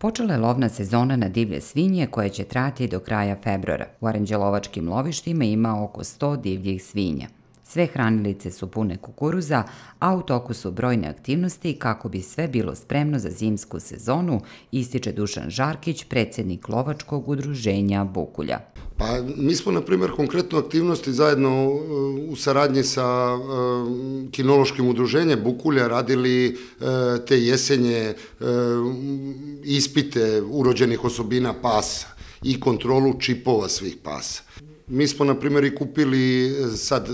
Počela je lovna sezona na divlje svinje koja će trajati do kraja februara. U aranđelovačkim lovištima ima oko 100 divljih svinja. Sve hranilice su pune kukuruza, a u toku su brojne aktivnosti kako bi sve bilo spremno za zimsku sezonu, ističe Dušan Žarkić, predsjednik lovačkog udruženja Bukulja. Pa mi smo, na primjer, konkretno aktivnosti zajedno u saradnji sa kinološkim udruženjem Bukulja radili te jesenje ispite urođenih osobina pasa i kontrolu čipova svih pasa. Mi smo, na primjer, i kupili, sad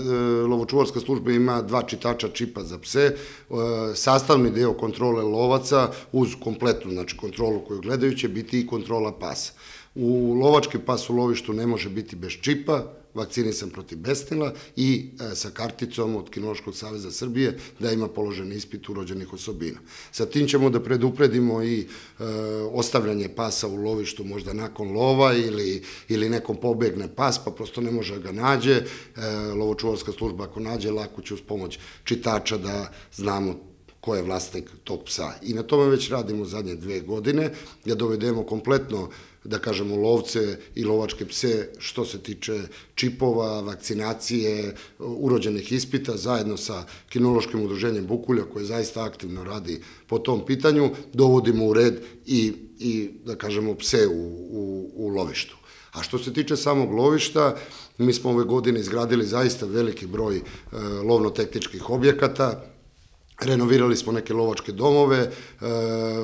lovočuvarska služba ima 2 čitača čipa za pse, sastavni deo kontrole lovaca uz kompletnu, znači kontrolu koju gledaju će biti i kontrola pasa. U lovački pas u lovištu ne može biti bez čipa, vakcinisan protiv besnila i sa karticom od Kinološkog saveza Srbije da ima položen ispit urođenih osobina. Sa tim ćemo da predupredimo i ostavljanje pasa u lovištu možda nakon lova ili nekom pobegne pas pa prosto ne može ga nađe. Lovočuvarska služba ako nađe lako će uz pomoć čitača da znamo ko je vlasnik tog psa. I na tome već radimo zadnje 2 godine, da dovedemo kompletno, da kažemo, lovce i lovačke pse što se tiče čipova, vakcinacije, urođenih ispita, zajedno sa kinološkim udruženjem Bukulja koje zaista aktivno radi po tom pitanju, dovodimo u red i da kažemo, pse u lovištu. A što se tiče samog lovišta, mi smo ove godine izgradili zaista veliki broj lovno-tehničkih objekata. Renovirali smo neke lovačke domove,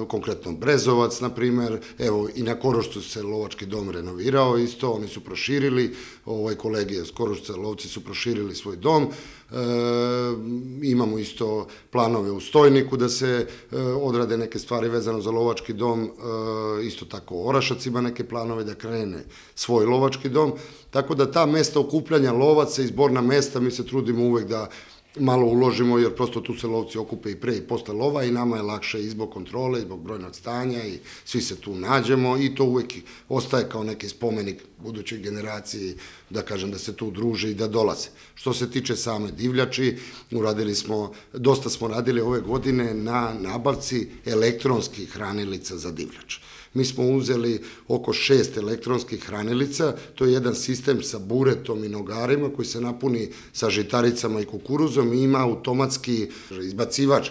konkretno Brezovac, na primjer, evo i na Korošcu se lovački dom renovirao isto, oni su proširili, kolege iz Korošca, lovci su proširili svoj dom, imamo isto planove u Stojniku da se odrade neke stvari vezano za lovački dom, isto tako Orašac ima neke planove da krene svoj lovački dom, tako da ta mesta okupljanja lovaca i zborna mesta mi se trudimo uvek da malo uložimo, jer prosto tu se lovci okupe i pre i posle lova i nama je lakše i zbog kontrole, i zbog brojnog stanja i svi se tu nađemo i to uvek ostaje kao neki spomenik budućoj generaciji, da kažem, da se tu druže i da dolaze. Što se tiče same divljači, dosta smo radili ove godine na nabavci elektronskih hranilica za divljač. Mi smo uzeli oko 6 elektronskih hranilica, to je jedan sistem sa buretom i nogarima koji se napuni sa žitaricama i kukuruzom i ima automatski izbacivač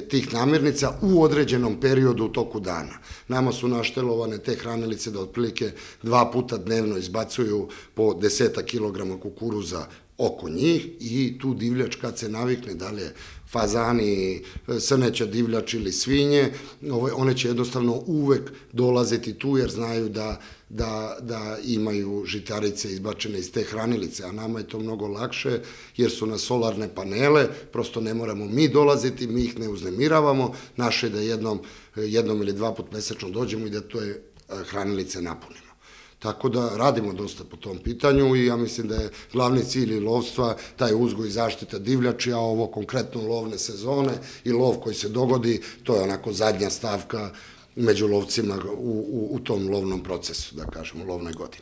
tih namirnica u određenom periodu u toku dana. Nama su naštelovane te hranilice da otprilike 2 puta dnevno izbacuju po 10 kilograma kukuruza oko njih i tu divljač kad se navikne, da li je fazani, srneća divljač ili svinje, one će jednostavno uvek dolaziti tu jer znaju da imaju žitarice izbačene iz te hranilice, a nama je to mnogo lakše jer su na solarne panele, prosto ne moramo mi dolaziti, mi ih ne uznemiravamo, naše je da jednom ili 2 put mesečno dođemo i da te hranilice napunimo. Tako da radimo dosta po tom pitanju i ja mislim da je glavni cilj lovstva taj uzgoj i zaštita divljači, a ovo konkretno lovne sezone i lov koji se dogodi, to je onako zadnja stavka među lovcima u tom lovnom procesu, da kažemo, lovnoj godini.